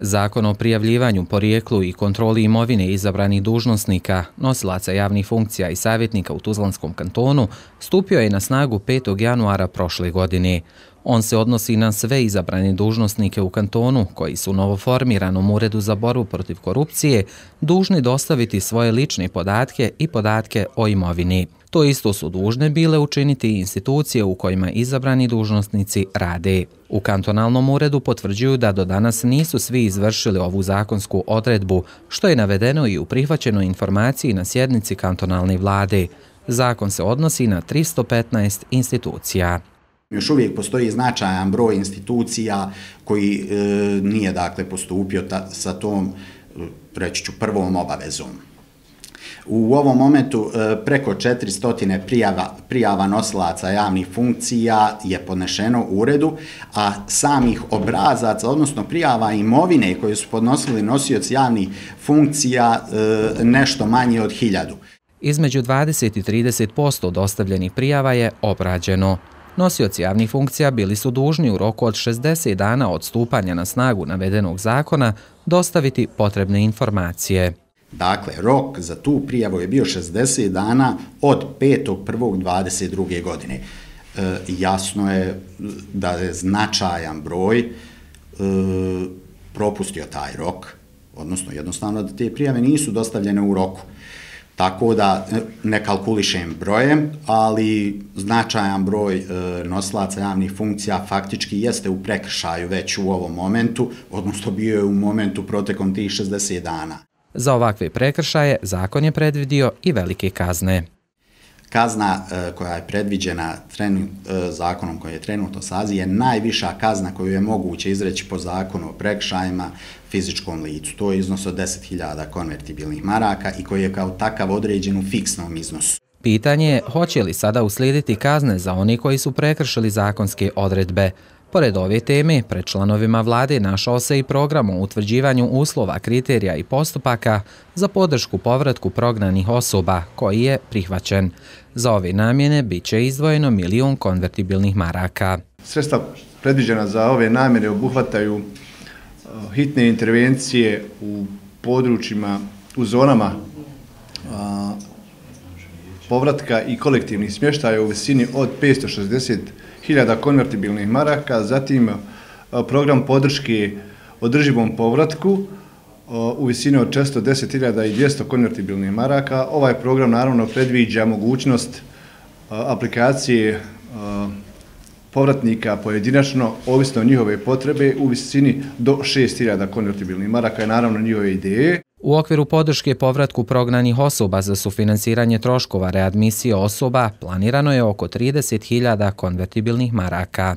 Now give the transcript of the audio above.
Zakon o prijavljivanju, porijeklu i kontroli imovine izabranih dužnosnika, nosilaca javnih funkcija i savjetnika u Tuzlanskom kantonu stupio je na snagu 5. januara prošle godine. On se odnosi na sve izabrane dužnosnike u kantonu koji su u novoformiranom Uredu za borbu protiv korupcije dužni dostaviti svoje lične podatke i podatke o imovini. To isto su dužne bile učiniti i institucije u kojima izabrani dužnosnici rade. U kantonalnom uredu potvrđuju da do danas nisu svi izvršili ovu zakonsku odredbu, što je navedeno i u prihvaćenoj informaciji na sjednici kantonalne vlade. Zakon se odnosi na 315 institucija. Još uvijek postoji značajan broj institucija koji nije postupio sa tom, reći ću, prvom obavezom. U ovom momentu preko 400 prijava nosilaca javnih funkcija je podnešeno u uredu, a samih obrazaca, odnosno prijava imovine koje su podnosili nosioci javnih funkcija nešto manje od 1000. Između 20 i 30% dostavljenih prijava je obrađeno. Nosioci javnih funkcija bili su dužni u roku od 60 dana od stupanja na snagu navedenog zakona dostaviti potrebne informacije. Dakle, rok za tu prijavu je bio 60 dana od 5.1.22. godine. Jasno je da je značajan broj propustio taj rok, odnosno jednostavno da te prijave nisu dostavljene u roku. Tako da ne kalkulišem brojem, ali značajan broj nosilaca javnih funkcija faktički jeste u prekršaju već u ovom momentu, odnosno bio je u momentu protekom tih 60 dana. Za ovakve prekršaje zakon je predvidio i velike kazne. Kazna koja je predviđena zakonom koji je trenutno sazi je najviša kazna koju je moguće izreći po zakonu o prekršajima fizičkom licu. To je iznos od 10.000 konvertibilnih maraka i koji je kao takav određen u fiksnom iznosu. Pitanje je hoće li sada uslijediti kazne za oni koji su prekršili zakonske odredbe. Pored ove teme, pred članovima vlade našao se i program o utvrđivanju uslova, kriterija i postupaka za podršku povratku prognanih osoba, koji je prihvaćen. Za ove namjene bit će izdvojeno 1 milion konvertibilnih maraka. Sredstva predviđena za ove namjene obuhvataju hitne intervencije u područjima, u zonama povratka i kolektivnih smještaja u visini od 560.000 konvertibilnih maraka, zatim program podrške održivom povratku u visini od 410.200 konvertibilnih maraka. Ovaj program naravno predviđa mogućnost aplikacije povratnika pojedinačno, ovisno o njihove potrebe, u visini do 6.000 konvertibilnih maraka i naravno njihove ideje. U okviru podrške povratku prognanih osoba za sufinansiranje troškova readmisije osoba planirano je oko 30.000 konvertibilnih maraka.